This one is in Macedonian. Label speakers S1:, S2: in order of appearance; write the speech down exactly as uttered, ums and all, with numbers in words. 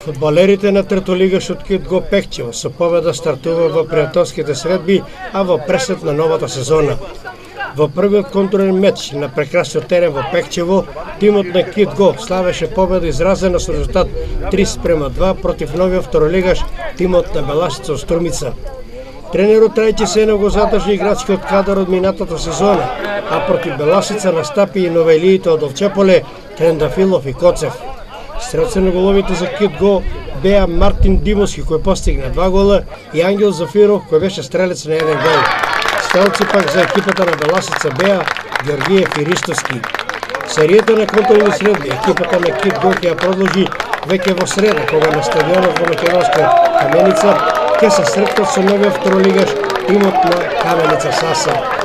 S1: Фудбалерите на третолигашот Кит Го Пехчево со победа стартува во пријателските средби, а во пресет на новата сезона. Во првиот контролен меч на прекрасниот терен во Пехчево, тимот на Кит Го славеше победа изразена со резултат три спрема два против новиот второлигаш тимот на Беласица од Струмица. Тренерот Трајче Сенов го задржи играчкиот кадар од минатата сезона, а против Беласица настапи и новелиите од Овчеполе, Трендафилов и Коцев. Стрелци на головите за Кит Го беа Мартин Димовски кој постигна два гола и Ангел Зафиров кој беше стрелец на еден гол. Стрелци пак за екипата на Беласица беа Георгиев и Ристовски. Серијата на контролни средби екипата на Кит Го ќе ја продолжи веќе во среда, кога на стадионот во Македонска Каменица ќе се сретнат со новиот второлигаш тимот на Каменица Саса.